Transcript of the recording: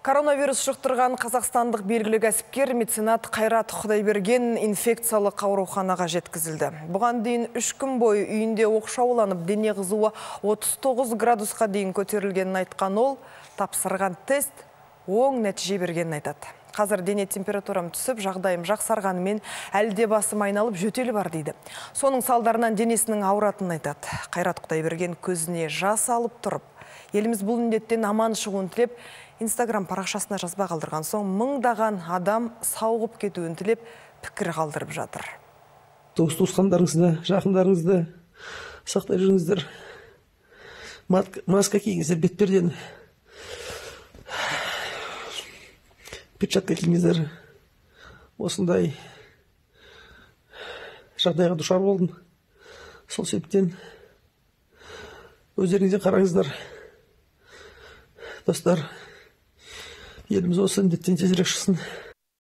Коронавирус жұқтырған қазақстандық белгілі кәсіпкер меценат Қайрат Құдайберген инфекциялық ауруханаға жеткізілді. Бұған дейін 3 күн бойы үйінде оқшауланып, дене қызуы 39 градусқа дейін көтерілгенін айтқан ол, тапсырған тест оң нәтиже бергенін айтады. Қазір дене температурам түсіп, жағдайым жақсарғанымен әлде басым айналып жөтелі бар дейді. Соның салдарынан денесінің ауыратынын айтады. Қайрат Құдайберген көзіне жас алып тұрып, еліміз бұл індеттен аман шығуын тілеп, Инстаграм парақшасына жазба қалдырған соң, мыңдаған адам сауығып кетуін тілеп, пікір қалдырып жатыр. Туысқандарыңызды, жақындарыңызды сақтай жүріңіздер. Маска киіңіздер, бетперден. Перчатка киіңіздер. Осындай жағдайға душар болдым. Сол себептен өздеріңізден қараңыздар. Достар, еліміз осы індеттен тезірек шықсын.